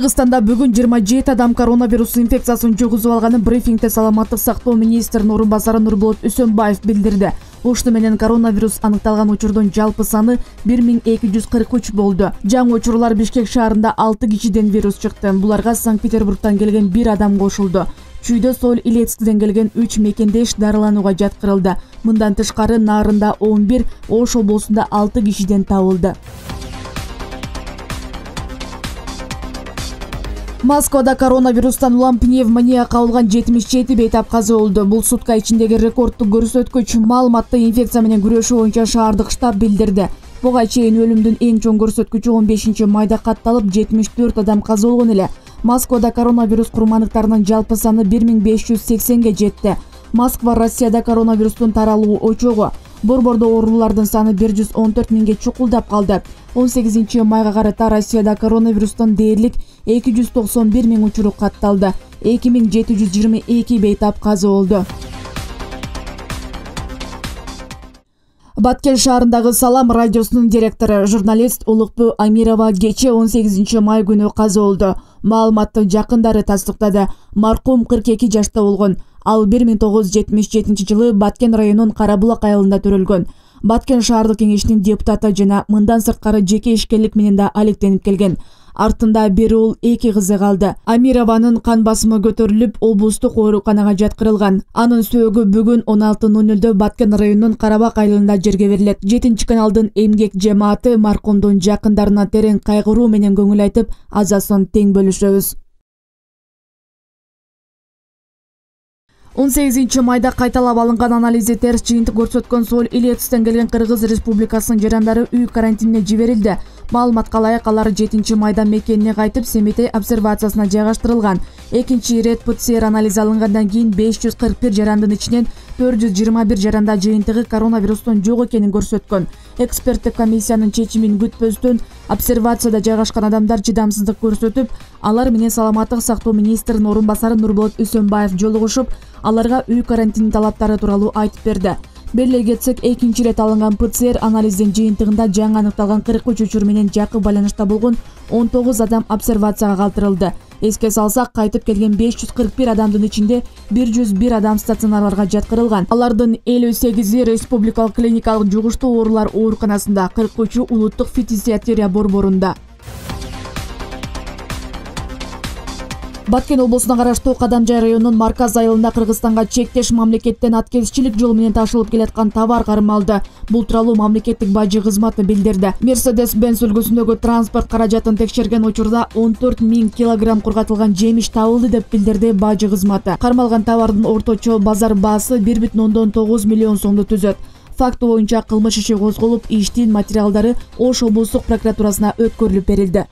Кыргызстанда бүгүн 27 адам коронавирус инфекциясын жугузуп алганын брифингде саламаттык сактоо министринин орун басары Нурболот Үсөнбаев билдирди. Ушуну менен коронавирус аныкталган учурдун жалпы саны 1243 болду. Жаңы учурлар Бишкек шаарында 6 кишиден вирус чыкты. Буларга Санкт-Петербургдан келген 1 адам кошулду. Чүйдө Сол Илецкиден келген 3 мекендеш дарыланууга жаткырылды. Мындан тышкары Нарында 11, Ош облусунда 6 кишиден табылды. Москвада коронавирустан улам пневмония кабылган 77 бейтап каза болду. Бул сутка ичиндеги рекордтук көрсөткүч. Маалыматты инфекция менен күрөшүү боюнча шаардык штаб билдирди. Буга чейин өлүмдүн эң чоң көрсөткүчү 15-майда катталып 74 адам каза болгон эле. Москвада коронавирус курмандыктарынын жалпы саны 1580ге жетти. Москва Россияда коронавирустун таралуу очогу. Борбордо оорулардын саны 114 миңге чукулдап калды. 18-майга карата Россияда коронавирустан дээрлик 291 миң учуру катталды. 2722 бейтап каза болду. Баткен шаарындагы Салам радиосунун директору, журналист Улукбу Амирова кече 18-май күнү каза болду. Маалыматты жакындары тастыктады. Маркум 42 жашта болгон. Ал 1977-жылы Баткен районунун Карабулак айылында төрөлгөн. Баткен шаардык кеңешинин депутаты жана мындан сырткары жеке ишкерлик менен да алектенип келген. Артында бир уул 2 кызы калды. Амированын кан басымы көтөрүлүп, облустук ооруканага жаткырылган. Анын сөөгү бүгүн 16:00 Баткен районунун Карабак айылында жерге берилет. 7-каналдын эмгек жамааты маркумдун жакындарына терең кайгыруу менен көңүл айтып, азасын тең бөлүшөбүз. 18-майда кайталап алынган анализи терс жыйынтык көрсөткөн Сол Илецкиден келген Кыргыз Республикасынын жарандары үй карантинине жиберилди. Маалыматка ылайык алар 7-майда мекенине кайтып Семетей обсервациясына жайгаштырылган. Экинчи ирет ПЦР анализи алынгандан кийин 541 жарандын ичинен 421 жаранда жыйынтыгы коронавирустун жок экенин көрсөткөн. Эксперттик комиссиянын чечимин күтпөстөн обсервацияда жайгашкан адамдар чыдамсыздык көрсөтүп, алар менен саламаттык сактоо министринин орун басары Нурболот Үсөнбаев жолугушуп, аларга үй карантини талаптары тууралуу айтып берди. Беле кетсек, экинчи ирет алынган ПЦР анализдин жыйынтыгында жаңы аныкталган 43 учур менен жакын байланышта болгон 19 адам обсервацияга калтырылды. Эске салсак, кайтып келген 541 адамдын ичинде 101 адам стационарларга жаткырылган. Алардын 58-и республикалык клиникалык жугуштуу оорулар ооруканасында, 43-ü улуттук фитизиатерия борборунда. Баткен облусуна караштуу Кадамжай районунун Марказ айылында Кыргызстанга чектеш мамлекеттен аткезчилик жолу менен ташылып келаткан товар кармалды. Бул тууралуу мамлекеттик бажы кызматы билдирди. Mercedes-Benz үлгүсүндөгү транспорт каражатын текшерген учурда 14 000 килограмм кургатылган жемиш табылды деп билдирди бажы кызматы. Кармалган товардын орточо базар баасы 1,9 миллион сомду түзөт. Факт боюнча кылмыш иши козголуп, иштин материалдары Ош облустук прокуратурасына өткөрүлүп берилди.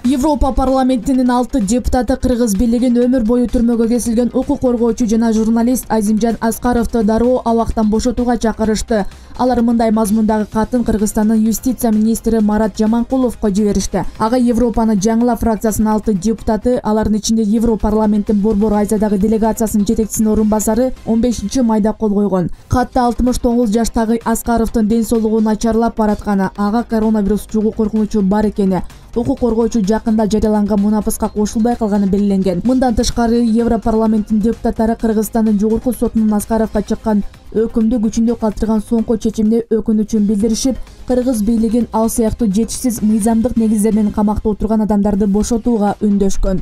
Европа парламентинин 6 депутаты Кыргыз бийлигин өмүр бою түрмөгө кесилген укук коргоочу жана журналист Азимжан Аскаровду дароо абактан бошотууга чакырышты. Алар мындай мазмундагы катын Кыргызстандын юстиция министри Марат Жаманкуловго жиберишти. Ага Европаны жаңыла фракциясынын 6 депутаты, алардын ичинде Европарламенттин Борбор Азиядагы делегациясынын жетекчисинин орун басары 15-майда кол койгон. Катта 69 жаштагы Аскаровдун ден соолугу начарлап баратканы, ага коронавирус жугуу коркунучу бар экени, укук коргоочу жакында жарыяланган мунапыска кошулбай калганы белгиленген. Мындан тышкары Европарламенттин депутаттары Кыргызстандын жогорку сотунун Аскаровго чыккан өкүмдү күчүндө калтырган соңку чечимине өкүнүчүн билдиришип, Кыргыз бийлигин ал сыяктуу жетишсиз мыйзамдык негиздерден камакта отурган адамдарды бошотууга үндөшкөн.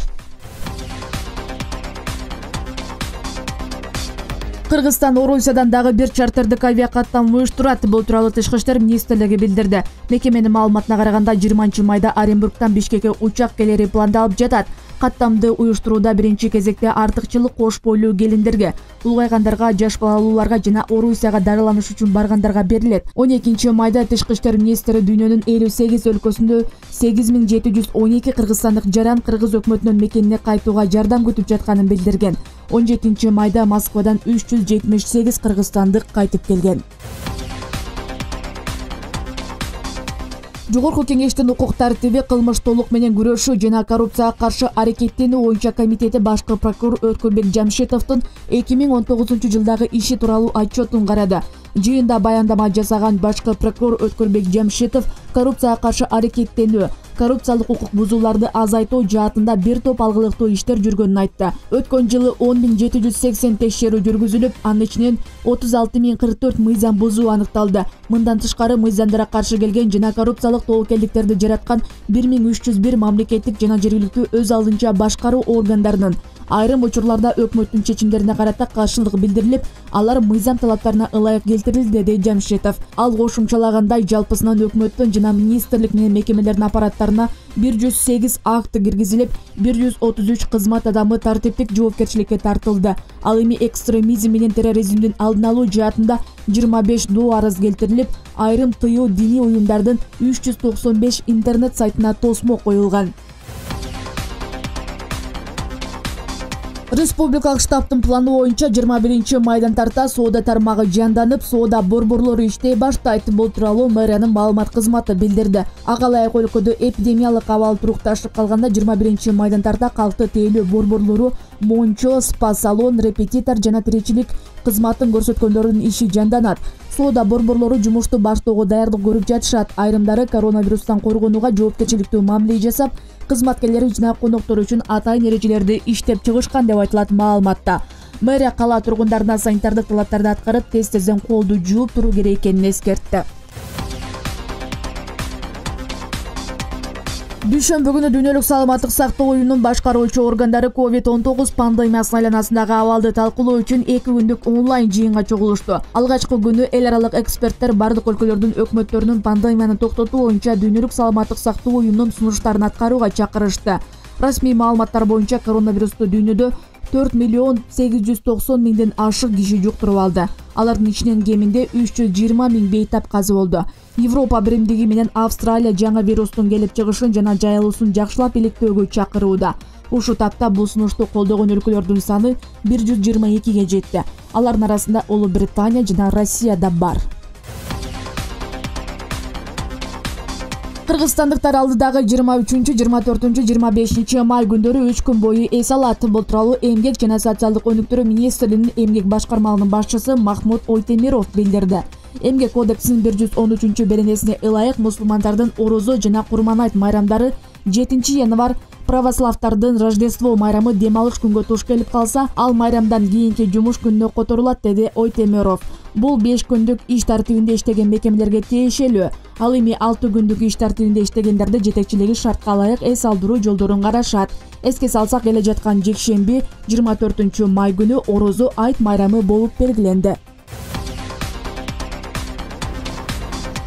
Кыргызстан Орусиядан дагы бир чартердик авиакаттам уюштурат. Бул тууралуу Тышкы иштер министрлиги билдирди. Мекеменин маалыматына караганда 20-майда Оренбургтан Бишкекке учак келери пландалып жатат. Каттамды уюштурууда биринчи кезекте артыкчылык кош бойлуу келиндерге, улгайгандарга, жаш балалууларга жана Орусияга дарыланыш үчүн баргандарга берилет. 12-майда Тышкы иштер министри дүйнөнүн 58 өлкөсүндө 8712 кыргызстандык жаран кыргыз өкмөтүнүн мекенине кайтууга жардам күтүп жатканын билдирген. 17-майда Москвадан 378 кыргызстандык кайтып келген. Жогорку кеңештин укук тартиби, кылмыш толук менен күрөшүү жана коррупцияга каршы аракеттенүү боюнча комитети башкы прокурор Өткөнбек Жамшитовдун 2019 жылдагы иши тууралуу отчетун карады. Жыйында баяндама жасаган башкы прокурор Өткөрбек Жамшитов коррупцияга каршы аракеттенүү, коррупциялык укук бузууларды азайтуу жаатында бир топ алгылыктуу иштер жүргөнүн айтты. Өткөн жылы 10.780 текшерүү жүргүзүлүп, анын ичинен 36.044 мыйзам бузуу аныкталды. Мындан тышкары мыйзамдарга каршы келген жана коррупциялык тобокелдиктерди жараткан 1301 мамлекеттик жана жергиликтүү өз алдынча башкаруу органдарынын айрым учурларда өкмөттүн чечимдерине карата каршылык билдирилип, алар мыйзам талаптарына ылайык келтирилди, деди Жамшитов. Ал кошумчалагандай, жалпысынан өкмөттүн жана министрлик менен мекемелердин аппараттарына 108 акт киргизилип, 133 кызмат адамы тартиптик жоопкерчиликке тартылды. Ал эми экстремизм менен терроризмдин алдын алуу жаатында 25 доо арыз келтирилип, айрым тыюу диний уюмдардын 395 интернет сайтына тосмо коюлган. Республикалык штабтын планы боюнча 21 майдан тарта соода тармагы жанданып, соода борборлору иштей баштайт. Бул тууралуу мэриянын маалымат кызматы билдирди. Ага ылайык өлкөдө эпидемиялык абал турукташып калганда 21 майдан тарта калкты тейлөө борборлору мончо, спа салон, репетитор жана тиричилик кызматын көрсөткөндөрдүн иши жанданат. Соода борборлору жумушту баштоого даярдык көрүп жатышат. Айрымдары коронавирустан коргонууга жоопкерчиликтүү мамиле жасап, кызматкерлери жана коноктор үчүн атайын эрежелерди иштеп чыгышкан деп айтылат маалыматта. Мэрия кала тургундарына санитардык талаптарды аткарып, тез-тезден колду жууп туруу керек экенин эскертти. Дүйшөмбү күнү Дүйнөлүк саламаттык сактоо уюмунун башкаруучу органдары COVID-19 пандемиясынын айланасындагы абалды талкуулоо үчүн 2 күндүк онлайн жыйынга чогулушту. Алгачкы күнү эл аралык эксперттер бардык өлкөлөрдүн өкмөттөрүнүн пандемияны токтотуу боюнча Дүйнөлүк саламаттык сактоо уюмунун сунуштарын аткарууга чакырышты. Расмий маалыматтар боюнча коронавирусту дүйнөдө 4.890.000ден ашык киши жуктуруп алды. Алардын ичинен кеминде 320.000 бейтап казы болду. Европа биримдиги менен Австралия жаңы вирустун келип чыгышын жана жайылуусун жакшылап иликтөөгө чакырууда. Ушул тапта бул сунушту колдогон өлкөлөрдүн саны 122ге жетти. Алардын арасында Улуу Британия жана Россия да бар. Кыргызстандыктар алдыдагы 23, 24, 25 май күндөрү 3 күн бою эс алат. Бул тууралуу Эмгек жана социалдык өнүктүрүү министрлигинин эмгек башкармалыгынын башчысы Махмут Ойтемиров билдирди. Эмгек кодексинин 113-беренесине ылайык мусулмандардын орозо жана Курман-айт майрамдары 7 январь, православдардын Рождество майрамы дем алыш күнгө туш келип калса, ал майрамдан кийинки жумуш күнүнө которулат, деди Ойтемиров. Бул 5 күндүк иш тартибинде иштеген мекемелерге тиешелүү. Ал эми 6 күндүк иш тартибинде иштегендерди жетекчилиги шартка ылайык эс алдыруу жолдорун карашат. Эске салсак, келе жаткан жекшемби 24 май күнү орозо айт майрамы болуп белгиленди.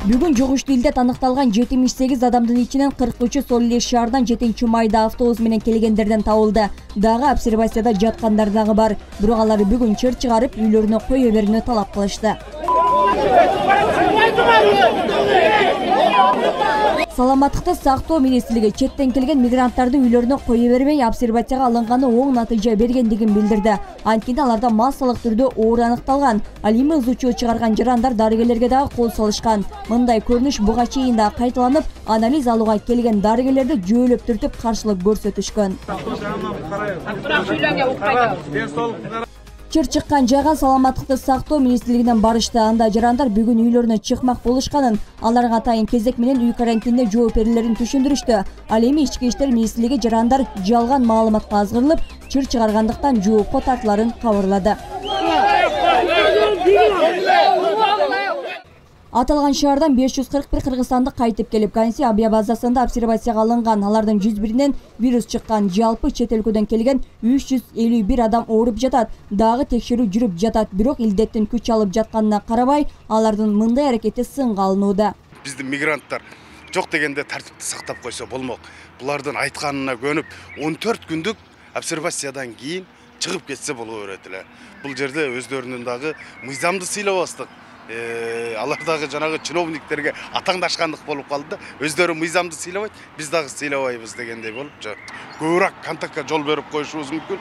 Бүгүн жок иштүү илдет аныкталган 78 адамдын ичинен 43-ü Сол эле шаардан 7 майда автобус менен келгендерден табылды. Дагы обсервацияда жаткандар дагы бар. Бирок алар бүгүн чыр чыгарып, үйлөрүнө кое берүүнү талап кылышты. Саламаттыкты сактоо министрлиги четтен келген мигранттарды үйлөрүнө кое бербей, обсервацияга алынганы оң натыйжа бергендигин билдирди. Анткени аларда массалык түрдө оор аныкталган. Ал эми ызуу чыгарган жарандар дарыгерлерге дагы кол салышкан. Мындай көрүнүш буга чейин да кайталанып, анализ алууга келген дарыгерлерди жөөлөп түртүп каршылык көрсөтүшкөн. Чыр чыккан жайга саламаттыкты сактоо министрлигинен барышты. Анда жарандар бүгүн үйлөрүнө чыкмак болушканын, аларга атайын кезек менен үй карантинине жооп берүүлөрүн түшүндүрүштү. Ал эми ички иштер министрлиги жарандар жалган маалыматка азгырылып, чыр чыгаргандыктан жоопко тартыларын кабарлады. Аталган шаардан 541 кыргызстандык кайтып келип, Ганси авиабазасында обсервацияга алынган. Алардын 101-нен вирус чыккан. Жалпы чет өлкөдөн келген 351 адам ооруп жатат. Дагы текшерүү жүрүп жатат. Бирок илдеттин күч алып жатканына карабай, алардын мындай аракети сынга алынууда. Биздин мигранттар жок дегенде тартипти сактап койсо болмок. Булардын айтканына көнүп 14 күндүк обсервациядан кийин чыгып кетсе боло берет эле. Бул жерде өздөрүнүн дагы мыйзамды сыйлабастык. Алар дагы жанагы чиновниктерге атаңдашкандык болуп калды да, өздөрү мыйзамды сыйлабайт, биз дагы сыйлабайбыз дегендей болуп, көбүрөөк контактка жол берип коюшубуз мүмкүн.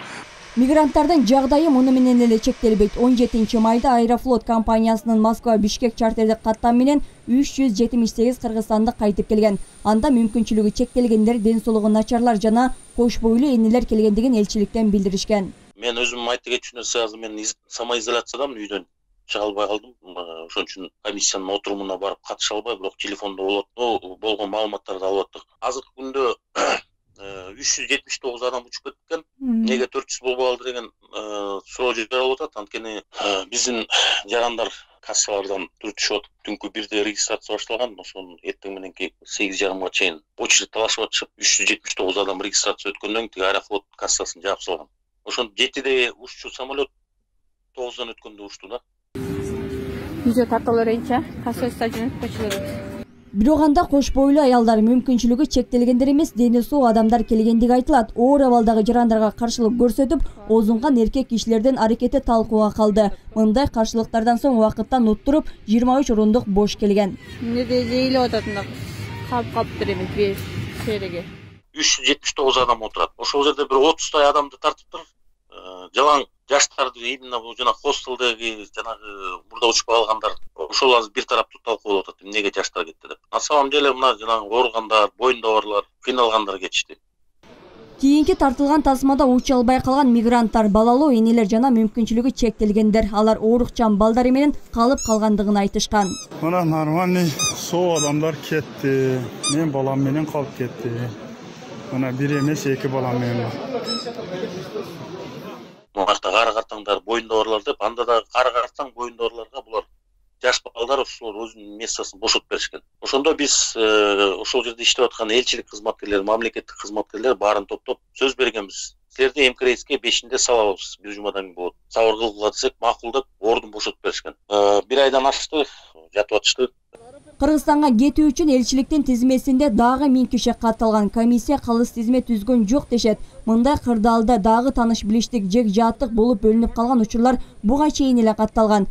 Мигранттардын жагдайы муну менен эле чектелбейт. 17 майда Аэрофлот компаниясынын Москва-Бишкек чартердик каттам менен 378 кыргызстандык кайтып келген. Анда мүмкүнчүлүгү чектелгендер, ден соолугу начарлар жана кош бойлуу энелер келгендигин элчиликтен билдиришкен. Мен өзүм айта кетчүнө сыйазы, мен самоизоляциядамын үйдөн. чыга албай калдым. Ошон үчүн комиссиянын отурумуна барып катыша албай, бирок телефондо болгон маалыматтарды алып аттык. Азыркы күндө 379 адам учуп кеткен. Неге 400 болбой калды деген суроо жаралып атат. Анткени биздин жарандар кассалардан түртүшүп атып, түнкү 1-де регистрация башталган. Ошон эртең мененки 8:30 чейин очередь талашып атышып, 379 адам регистрация өткөндөн кийин Аэрофлот кассасын жаап салган. Ошон 7-де уччу самолет 9-дан өткөндө учту да. Жүзө тартылар энче касса жөнөткөчүлөр. Бирок анда кош бойлуу аялдар, мүмкүнчүлүгү чектелгендер эмес, дени соо адамдар келгендиги айтылат. Оор абалдагы жарандарга каршылык көрсөтүп, озунган эркек кишилердин аракети талкууга калды. Мындай каршылыктардан соң убакыттан уттуруп 23 орундук бош келген. Эмнеде жейилип атат мына калыптыр эми бир сереге. 379 адам отурат. Ошол жерде бир 30 адамды тартыптыр. Жалаң жаштарды именно жана хостелдеги жанагы мурда учуп калгандар ошол азыр бир тараптуу талкуулап атат. Эмнеге жаштар кетти деп. На самом деле мына жанагы ооругандар, боюнда барлар, кыйналгандар кетишти. Кийинки тартылган тасмада уча албай калган мигранттар, балалуу энелер жана мүмкүнчүлүгү чектелгендер. Алар оорукчан балдары менен калып калгандыгын айтышкан. Мына нормальный соо адамдар кетти. Мен балам менен калып кетти. Мына бир эмес 2 балам менен. Мурда кара картаңдар, боюнда барлар деп, анда да кара картаң, боюнда барларга булар жаш балдар ошолор өзүнүн местосын бошотуп беришкен. Ошондо биз ошол жерде иштеп аткан элчилик кызматкерлер, мамлекеттик кызматкерлер баарын топтоп сөз бергенбиз. Силерди МКРСке 5-inde салабыз, бир жумадан кийин болот. Сабыр кылгыла десек, макул деп ордун бошотуп беришкен. Бир айдан ашты, жатып атышты. Кыргызстанга кетүү үчүн элчиликтин тизмесинде дагы 1000 киши катталган. Комиссия калыс тизме түзгөн жок дешет. Мындай кырдаалда дагы таныш билиштик, жек жааттык болуп бөлүнүп калган учурлар буга чейин эле катталган.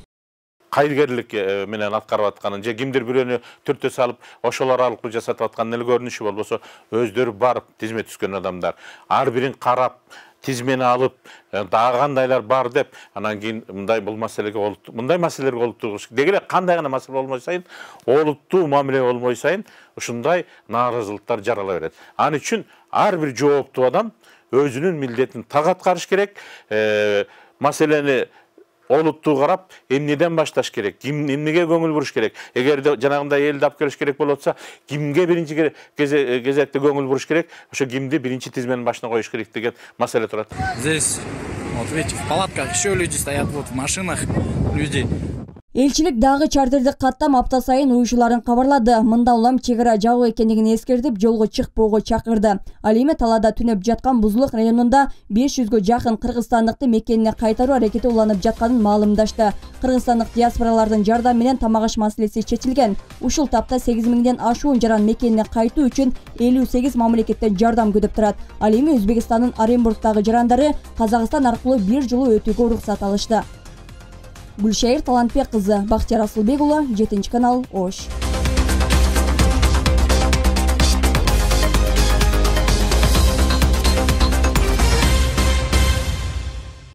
Кайргерлик менен аткарып атканын же кимдир бирөөнү түртө салып ошолор аркылуу жасатып аткан эле көрүнүшү болбосо, өздөрү барып тизме түзгөн адамдар ар бирин карап, тизмени алып, дагы кандайлар бар деп, анан кийин бул маселелерге олуттуу деги эле кандай гана маселе болмой сайын, олуттуу мамиле болмой сайын ушундай нааразылыктар жарала берет. Ал үчүн ар бир жооптуу адам өзүнүн милдетин так аткарыш керек, маселени олуттуу карап, эмнеден башташ керек, эмнеге көңүл буруш керек. Эгерде жанагындай элди алып келиш керек болот болсо, кимге биринчи кезекте көңүл буруш керек, ошо кимди биринчи тизменин башына коюш керек деген маселе турат. Здесь, вот видите, в палатках еще люди стоят, вот в машинах люди. Элчилик дагы чартерди каттам апта сайын уюшуларын кабарлады. Мында улам чек ара жабык экендигин эскертип, жолго чыкпоого чакырды. Ал эми талаада түнөп жаткан Бузулук районунда 500гө жакын кыргызстандыкты мекенине кайтаруу аракети уланып жатканын маалымдашты. Кыргызстандык диаспоралардын жардамы менен тамак аш маселеси чечилген. Ушул тапта 8000ден ашуун жаран мекенине кайтуу үчүн 58 мамлекеттен жардам күтүп турат. Ал эми Өзбекстандын Оренбургдагы жарандары Казакстан аркылуу бир жылуу өтүүгө уруксат алышты. Гүлшайыр Талантбек кызы, Бактияр Асылбек уулу, 7 канал, Ош.